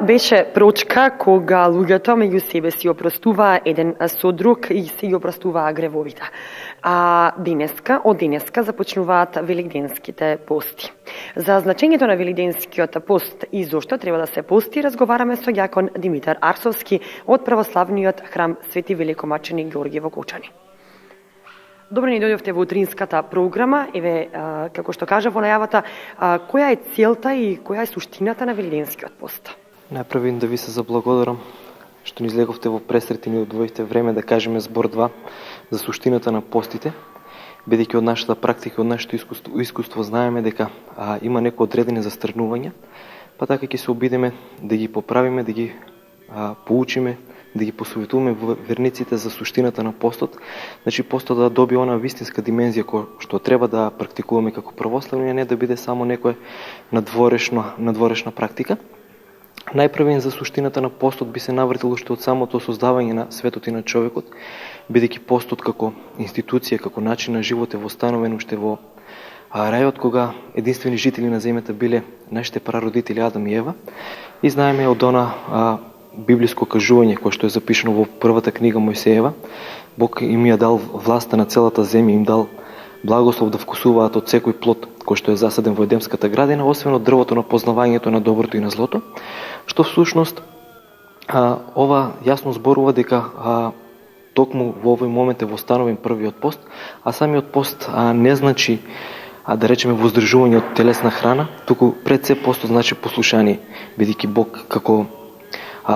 беше прочка кога луѓето меѓу себе си опростуваа еден со друг и си опростуваа гревовите. А од денеска започнуваат великденските пости. За значењето на великденскиот пост и зошто треба да се пости, разговараме со ѓакон Димитар Арсовски од православниот храм Свети Великомаченик Ѓорѓе во Кочани. Добро ни дојдовте во утринската програма. Еве, како што кажа во најавата, која е целта и која е суштината на великденскиот пост? Најпрво да ви се заблагодарам што ни излеговте во пресрет и ни одвоивте време да кажеме збор 2 за суштината на постите, бидејќи од нашата практика, од нашето искуство знаеме дека има некои одредени застрнувања, па така ќе се обидеме да ги поправиме, да ги поучиме, да ги посоветуваме верниците за суштината на постот, значи постот да добие она вистинска димензија што треба да практикуваме како православни, а не да биде само некоја надворешна практика. Најпрвен за суштината на постот би се навртило уште од самото создавање на светот и на човекот, бидејќи постот како институција, како начин на живот е востановен уште во рајот, кога единствени жители на земјата биле нашите прародители Адам и Ева. И знаеме од она библиско кажување кое што е запишано во првата книга Мојсеева, Бог им ја дал власта на целата земја, им дал благослов да вкусуваат од секој плод кој што е засаден во Едемската градина, освен од дрвото на познавањето на доброто и на злото, што всушност ова јасно зборува дека токму во овој момент е востановен првиот пост, а самиот пост не значи да речеме воздржување од телесна храна, туку пред се постот значи послушание, бидејќи Бог како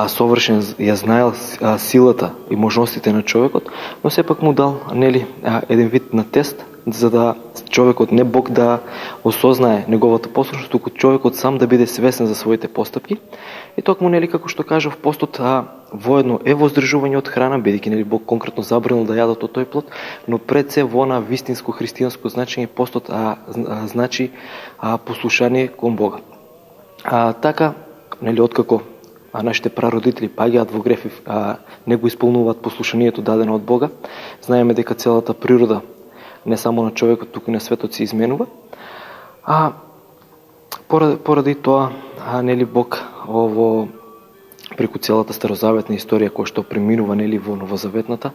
совршен ја знаел силата и можностите на човекот, но сепак му дал еден вид на тест, за да човекот, не Бог да осознае неговата послушност, туку човекот сам да биде свесен за своите постапки. И токму како што кажав, постот воедно е воздржување од храна, бидејќи Бог конкретно забранил да јадат од тој плод, но пред се во на вистинско христијанско значење постот значи послушание кон Бога. Така, откако нашите прародители паѓаат во греф, не го исполнуваат послушанието дадено од Бога, знаеме дека целата природа, не само на човекот, туку и на светот се изменува. Поради тоа, Бог преку целата старозаветна историја која што преминува во новозаветната,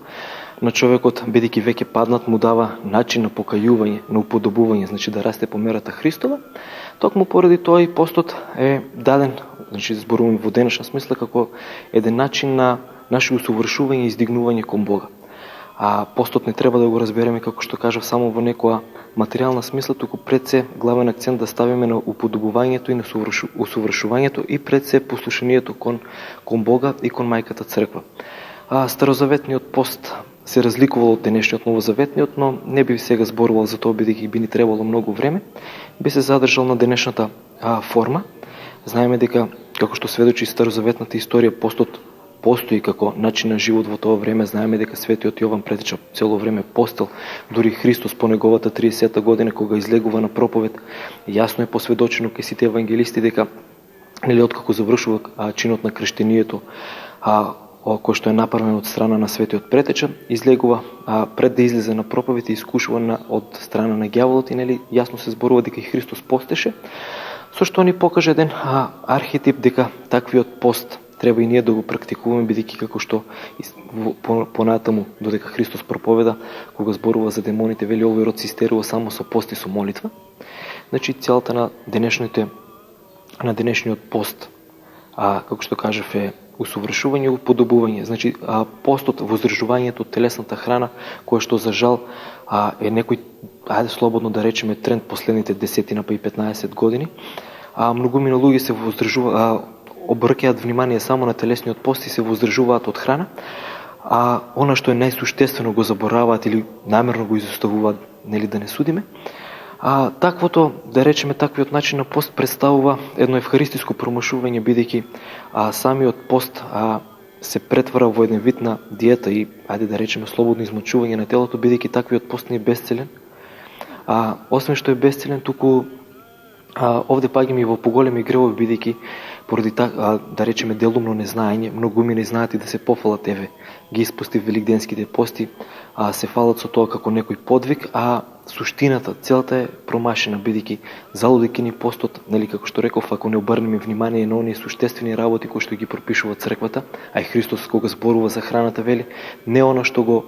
на човекот, бидејќи веќе паднат, му дава начин на покајување, на уподобување, значи да расте по мерата Христова. Токму поради тоа и постот е даден, значи зборуваме во денешна смисла, како еден начин на наше усовршување и издигнување кон Бога. Постот не треба да го разбереме, како што кажав, само во некоја материјална смисла, туку пред се главен акцент да ставиме на уподобувањето и на усовршувањето и пред се послушанието кон Бога и кон мајката црква. Старозаветниот пост се разликувал од денешниот новозаветниот, но не би сега зборувал за тоа, бидејќи би ни требало многу време. Би се задржал на денешната форма. Знаеме дека, како што сведочи старозаветната историја, постот постои како начин на живот во тоа време. Знаеме дека светиот Јован претеча цело време постел, дури Христос по неговата 30-та година кога излегува на проповед, јасно е посведочено кај сите евангелисти дека откако завршува чинот на крштението, кој што е направен од страна на светиот претеча, излегува пред да излезе на проповед и искушуван од страна на ѓаволот, и јасно се зборува дека и Христос постеше, со што ни покаже еден архетип дека таквиот пост треба и ние да го практикуваме, бидејќи како што понатаму додека Христос проповеда, кога зборува за демоните, вели овој род се истерува само со пост и со молитва. Значи целта на денешниот пост, како што кажав, е усовршување и уподобување. Значи постот, воздржувањето од телесната храна, кое што за жал е некој, ајде слободно да речеме, тренд последните 10 па и 15 години. Многумина луѓе се обрќаат внимание само на телесниот пост и се воздржуваат од храна, она што е најсуштествено го забораваат или намерно го изоставуваат, да не судиме. Таквото, да речеме, таквиот начин на пост представува едно евхаристиско промашување, бидејќи самиот пост се претвара во еден вид на диета и, ајде да речеме, слободно измочување на телото, бидејќи таквиот пост не е бесцелен. Освен што е бесцелен, туку овде паѓаме и во поголеми гревови, бидејќи поради да речеме делумно незнаење, многумина знаат и да се пофалат, ги испусти великденските пости, се фалат со тоа како некој подвиг, суштината, целата е промашена, бидејќи залудејќи ни постот, нели како што реков, ако не обрнеме внимание на оние суштествени работи кои што ги пропишува црквата, а и Христос кога зборува за храната вели, не она што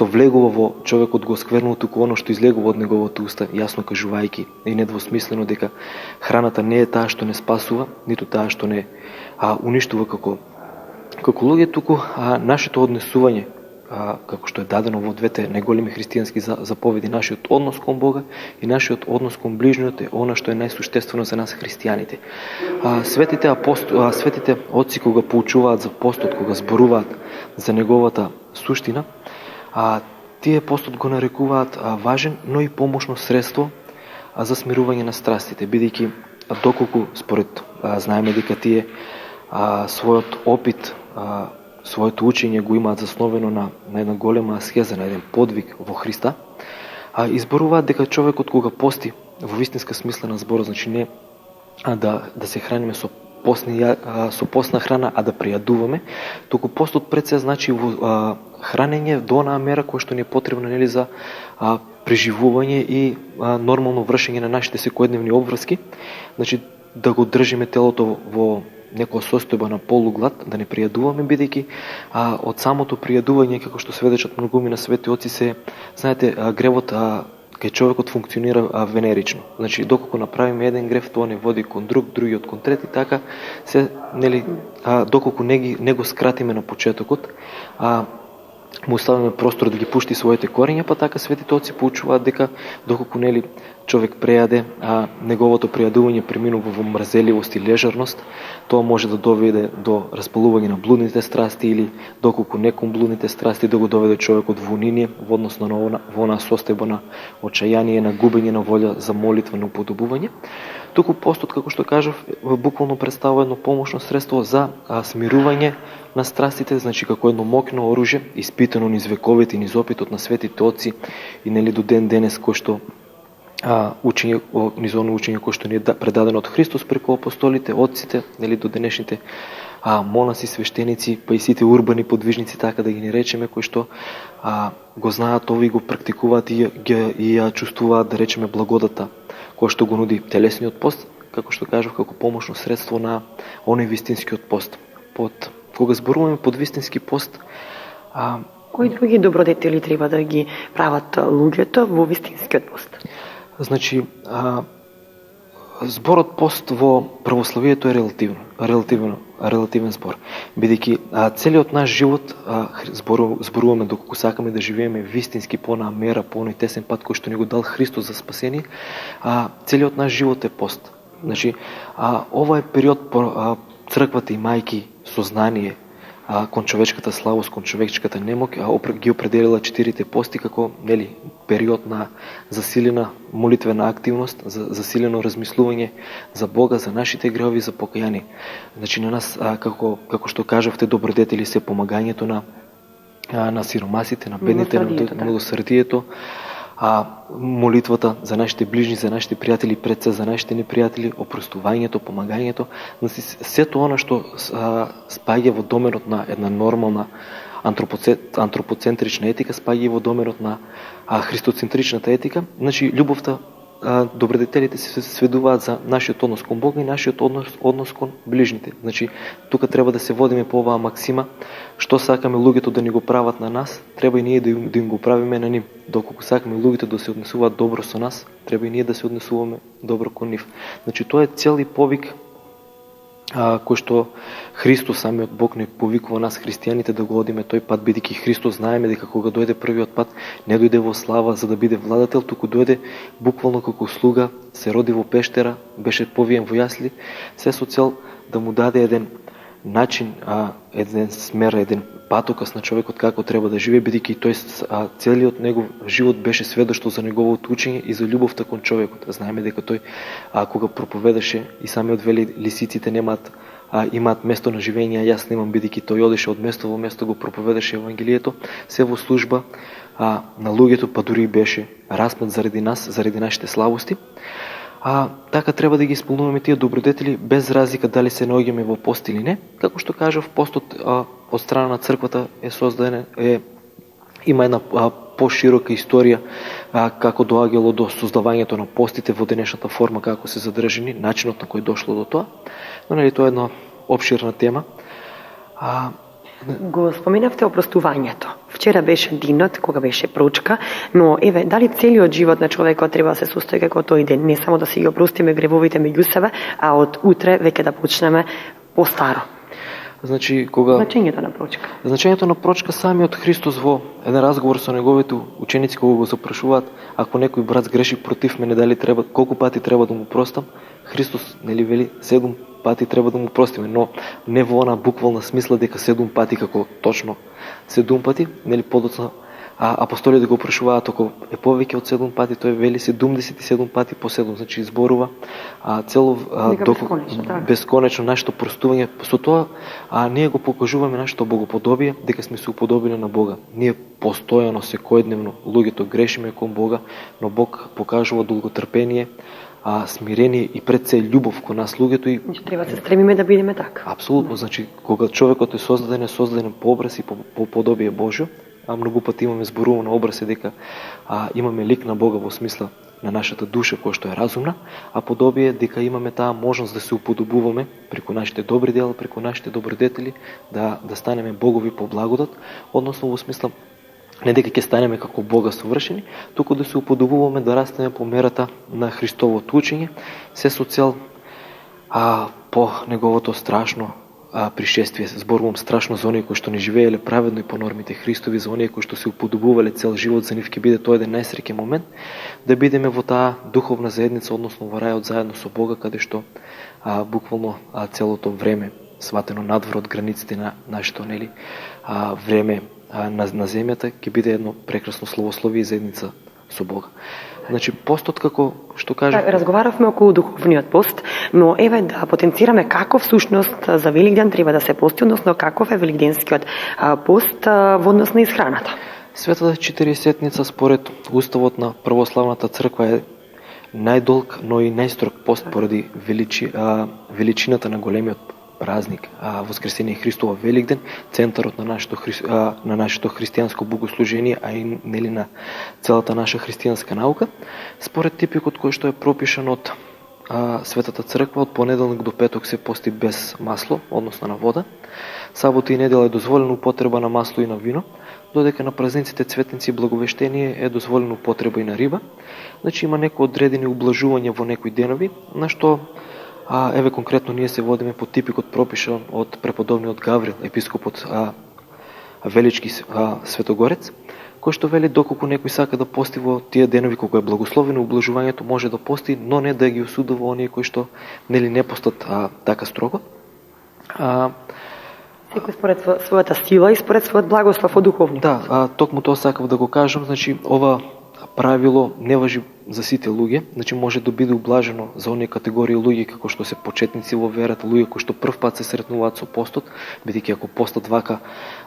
влегува во човекот го сквернува, туку оно што излегува од неговото уста, јасно кажувајќи и недвосмислено дека храната не е таа што не спасува, ниту таа што не уништува како луѓе, туку нашето однесување, како што е дадено во двете најголеми христијански заповеди, нашиот однос кон Бога и нашиот однос кон ближниот е она што е најсуштествено за нас христијаните. Светите отци кога поучуваат за постот, кога зборуваат за неговата суштина, тие постот го нарекуваат важен, но и помошно средство за смирување на страстите, бидејќи доколку според знаеме дека тие својот опит, своето учење го имаат засновено на една голема аскеза, на еден подвиг во Христа, изборуваат дека човекот кога пости во вистинска смисла на зборот, значи не да се храниме со постна храна, а да пријадуваме, туку постот пред се значи хранење до онаа мера која што ни е потребна, нели, за преживување и нормално вршење на нашите секојдневни обврски, значи да го држиме телото во некоја состојба на полуглад, да не пријадуваме, бидејќи од самото пријадување, како што сведечат многуми на свети отци, се, знаете, гревот кај човекот функционира венерично. Значи, доколку направиме еден грев, тоа не води кон друг, другиот кон трети, така се, нели, доколку не го скратиме на почетокот, му оставиме простор да ги пушти своите корења, па така светите отци поучуваат дека доколку, нели, човек прејаде, неговото пријадување преминува во мрзеливост и лежерност, тоа може да доведе до распалување на блудните страсти или доколку не кон блудните страсти да го доведе човекот во униние, во однос на во онаа состојба на очајание, на губење на волја за молитва, на уподобување. Туку постот, како што кажав, буквално представува едно помошно средство за смирување на страстите, значи како едно моќно оружје, испитано низ вековите и низ опитот на светите отци и, нели, до ден денес, кој што низ оно учење кој што ни е предадено од Христос преку апостолите, отците, нели, до денешните монаси, свештеници, па и сите урбани подвижници, така да ги не речеме, кои што го знаат ови, го практикуваат и ја чувствуваат, да речеме, благодата кој што го нуди телесниот пост, како што кажав, како помошно средство на оној вистинскиот пост. Кога зборуваме под вистински пост, кои други добродетели треба да ги прават луѓето во вистинскиот пост? Значи, зборот пост во православието е релативен збор, бидејќи целиот наш живот зборуваме доколку сакаме да живееме вистински по онаа мера, по оној тесен пат кој што ни го дал Христос за спасение, целиот наш живот е пост. Значи, ова е период црквата имајќи сознание кон човечката слабост, кон човечката немоќ, ги определила 4 пости како, нели, период на засилена молитвена активност, за засилено размислување за Бога, за нашите гревови, за покаяние. Значи, на нас, како што кажавте, добродетели се помагањето на сиромасите, на бедните, на милосрдието, молитвата за нашите ближни, за нашите пријатели, пред се за нашите непријатели, опростувањето, помагањето, сето она што спаѓа во доменот на една нормална антропоцентрична етика, спаѓа во доменот на христоцентричната етика. Значи, љубовта, добродетелите се сведуваат за нашиот однос кон Бога и нашиот однос кон ближните. Значи, тука треба да се водиме по оваа максима, што сакаме луѓето да ни го прават на нас, треба и ние да им го правиме на нив. Доколку сакаме луѓето да се однесуваат добро со нас, треба и ние да се однесуваме добро кон нив. Значи, тоа е цел и повик кој што Христос, самиот Бог, не повикува нас христијаните да го одиме тој пат, бидејќи Христос знаеме дека кога дојде првиот пат, не дојде во слава за да биде владател, туку дојде буквално како слуга, се роди во пештера, беше повиен во јасли, се со цел да му даде еден начин, еден смер, еден патокас на човекот како треба да живее, бидејќи тој целиот негов живот беше сведоштво за неговото учење и за љубовта кон човекот. Знаеме дека тој кога проповедаше и самиот вели лисиците имаат место на живење, а јас немам, бидејќи тој одеше од место во место, го проповедаше евангелието, се во служба на луѓето, па дури беше распнат заради нас, заради нашите слабости. Така треба да ги исполнуваме тие добродетели без разлика дали се наоѓаме во пост или не. Како што кажав, постот од страна на црквата е создаден, има една поширока историја како доаѓало до создавањето на постите во денешната форма, како се задржани, начинот на кој дошло до тоа. Но нели тоа е една опширна тема. Го споменавте опростувањето. Вчера беше денот кога беше прочка, но еве, дали целиот живот на човекот треба да се состои како тој ден, не само да си ги опростиме гревовите меѓу себе, а од утре веќе да почнеме постаро. Значи, Значењето на прочка. Значењето на прочка, самиот Христос во еден разговор со неговите ученици кога го запрашуваат, ако некој брат сгреши против мене, дали треба, колку пати треба да му простам? Христос нели вели 7 пати треба да му простиме, но не во она буквална смисла дека 7 пати како точно 7 пати, нели подоцна апостолите го прашуваат ако е повеќе од 7 пати, тој вели 77 пати по 7, значи изборува цело бесконечно нашето простување. Со тоа ние го покажуваме нашето богоподобие, дека сме се уподобили на Бога. Ние постојано секојдневно луѓето грешиме кон Бога, но Бог покажува долготрпение, смирение и пред се љубов кон нас луѓето и треба да се стремиме да бидеме така. Апсолутно, значи кога човекот е создаден по образ и по подобие Божјо, многу пати имаме зборувано образ дека имаме лик на Бога во смисла на нашата душа која што е разумна, а подобие дека имаме таа можност да се уподобуваме преку нашите добри дела, преку нашите добродетели, да станеме богови по благодат, односно во смисла не дека ќе станеме како Бога совршени, туку да се уподобуваме, да растеме по мерата на Христовото учење, се со цел по неговото страшно пришествие. Зборувам страшно за оние кои што не живееле праведно и по нормите Христови, за оние кои што се уподобувале цел живот, за нив ќе биде тоа еден најсреќен момент, да бидеме во таа духовна заедница, односно во рајот заедно со Бога, каде што буквално целото време, сватено надвор од границите на нашето време на земјата, ќе биде едно прекрасно славословие и заедница со Бога. Значи, постот, како што кажа... Разговаравме околу духовниот пост, но еве да потенцираме каков всушност за Великден треба да се пости, односно каков е великденскиот пост во однос на исхраната. Светата 40-ница според уставот на православната црква е најдолг, но и најстрог пост поради величината на големиот празник, Воскресение Христово Великден, центарот на нашето христијанско богослужение, а и на целата наша христијанска наука, според типикот кој што е пропишан од Светата црква, од понеделник до петок се пости без масло, односно на вода. Сабота и недела е дозволена употреба на масло и на вино, додека на празниците Цветници и Благовештение е дозволена употреба и на риба. Значи има некои одредени ублажувања во некои денови, на што еве конкретно ние се водиме по типикот пропишан од преподобниот Гаврил, епископот Велички Светогорец, кој што вели доколку некој сака да пости во тие денови кога е благословено ублажувањето, може да пости, но не да ги осудува оние кои што не постат така строго. Секој според својата сила и според својот благослов од духовникот. Да, токму тоа сакав да го кажам, значи ова правило не важи за сите луѓе, значи може да биде ублажено за оние категории луѓе како што се почетници во верата, луѓе кои што прв пат се сретнуваат со постот, бидејќи ако постот вака,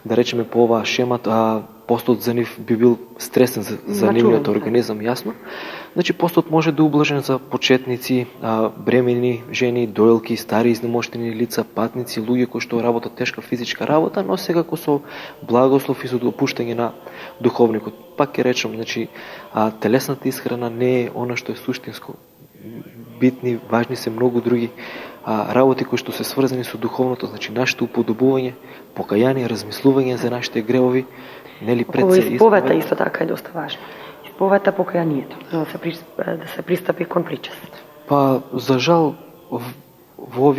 да речеме по оваа шемат, постот за нив би бил стресен за нивниот организам, јасно. Значи постот може да ублажен за почетници, бремени жени, доелки, стари изнемоштени лица, патници, луѓе кои што работат тешка физичка работа, но секако со благослов и со допуштање на духовникот. Пак ќе речам, значи телесната исхрана не е она што е суштинско. Битни, важни се многу други работи кои што се сврзани со духовното, значи нашето уподобување, покаяние, размислување за нашите гревови, нели пред се исповета исто така е доста важно. Исповета, покаянието, да се пристапи кон причест. За жал во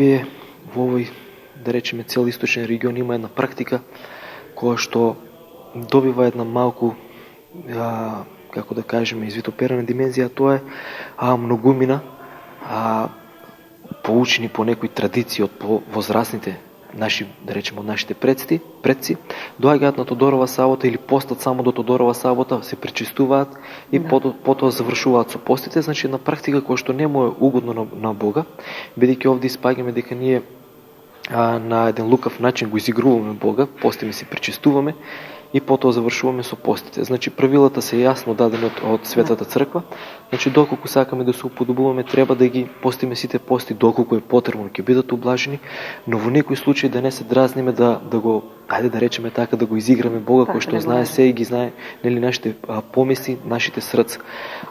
овој да речеме цел источен регион има една практика која што добива една малку како да кажеме извитоперена димензија, тоа е многумина поучени по некои традиции од возрастните наши, да речеме, од нашите предци, доаѓаат на Тодорова сабота или постат само до Тодорова сабота, се пречистуваат и потоа завршуваат со постите, значи една практика која што не му е угодно на Бога, бидејќи овде испаѓаме дека ние на еден лукав начин го изигруваме Бога, постиме се пречистуваме и потоа завршуваме со постите. Значи правилата се јасно дадени од Светата црква. Значи доколку сакаме да се уподобуваме, треба да ги постиме сите пости доколку е потребно, ќе бидат облажени, но во некој случај да не се дразниме да го, ајде да речеме така, да го изиграме Бога кој што знае се и ги знае нели нашите помисли, нашите срца.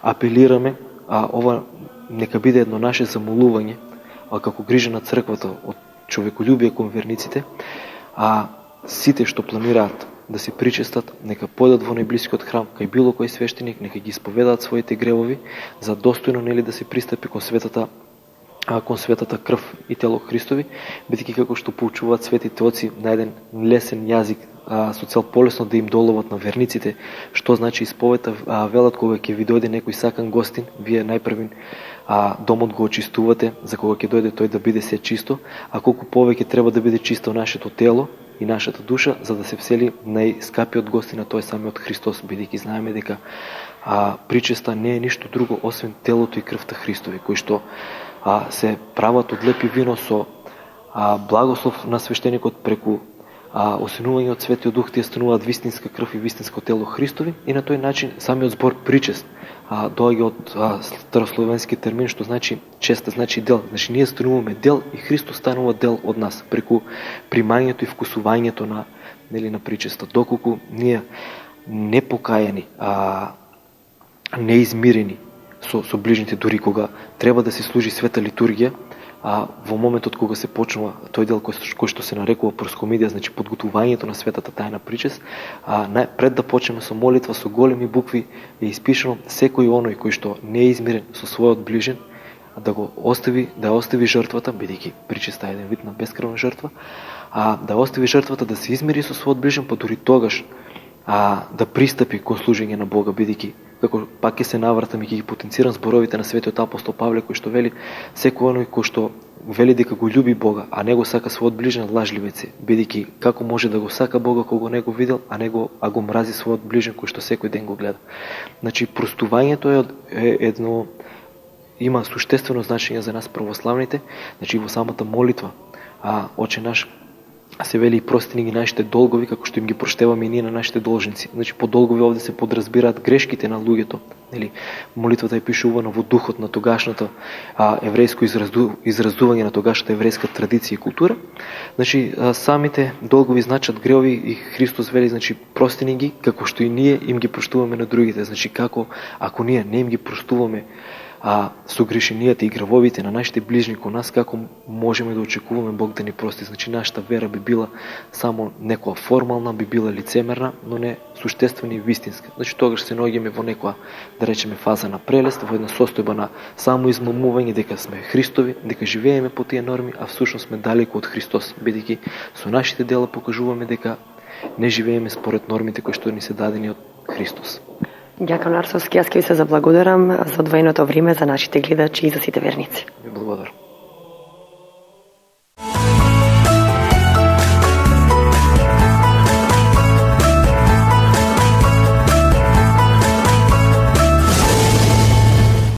Апелираме ова нека биде едно наше замолување како грижа на црквата од човеколюбие кон верниците, сите што планираат да се причестат, нека појдат во најблискиот храм кај било кој свештеник, нека ги исповедаат своите гревови, за достојно нели да се пристапи кон светата крв и тело Христови, бидејќи како што поучуваат светите оци на еден лесен јазик, со цел полесно да им доловат на верниците, што значи исповета, велат кога ќе ви дојде некој сакан гостин, вие најпрвин домот го очистувате, за кога ќе дојде тој да биде се чисто, а колку повеќе треба да биде чисто нашето тело и нашата душа, за да се всели најскапиот гостин, тој самиот Христос, бидејќи знаеме дека причеста не е ништо друго освен телото и крвта Христови, кои што се прават од лепи вино со благослов на свештеникот преку осенување од Светиот Дух, тие стануваат вистинска крв и вистинско тело Христови, и на тој начин самиот збор причест доаѓа од старословенски термин што значи честа, значи дел. Значи ние стануваме дел и Христос станува дел од нас преку примањето и вкусувањето на причеста. Доколку ние непокајани, неизмирени со ближните, дури кога треба да се служи света литургија, во моментот кога се почнува тој дел кој што се нарекува проскомидија, значи подготувањето на светата тајна причест, пред да почнеме со молитва со големи букви е испишано секој оној кој што не е измирен со својот ближен, да остави жртвата, бидејќи причеста е еден вид на бескрвна жртва, да остави жртвата, да се измири со својот ближен, па дури тогаш да пристапи кон служење на Бога, бидејќи како пак ќе се навратам и ќе ги потенцирам зборовите на светиот апостол Павле, кој што вели секој оној кој што вели дека го љуби Бога, а не го сака својот ближен, лажливец е, бидејќи како може да го сака Бога кога не го видел, а го мрази својот ближен кој што секој ден го гледа. Значи простувањето е едно, има суштествено значење за нас православните. Значи во самата молитва Оче наш се вели и прости ни ги нашите долгови, како што им ги проштеваме и ние на нашите должници. Значи по долгови овде се подразбираат грешките на луѓето. Нели, молитвата е пишувана во духот на тогашното еврејско изразување на тогашната еврејска традиција и култура. Значи самите долгови значат гревови и Христос вели, значи прости ни ги, како што и ние им ги проштуваме на другите. Значи како ако ние не им ги проштуваме согрешенијата и гревовите на нашите ближни кон нас, како можеме да очекуваме Бог да ни прости? Значи нашата вера би била само некоја формална, би била лицемерна, но не суштествена и вистинска. Значи тогаш се наоѓаме во некоја, да речеме, фаза на прелест, во една состојба на само измамување дека сме Христови, дека живееме по тие норми, а всушност сме далеку од Христос, бидејќи со нашите дела покажуваме дека не живееме според нормите кои што ни се дадени од Христос. Ѓакон Арсовски, јас ќе ви се заблагодарам за одвоеното време за нашите гледачи и за сите верници. Ви благодарам.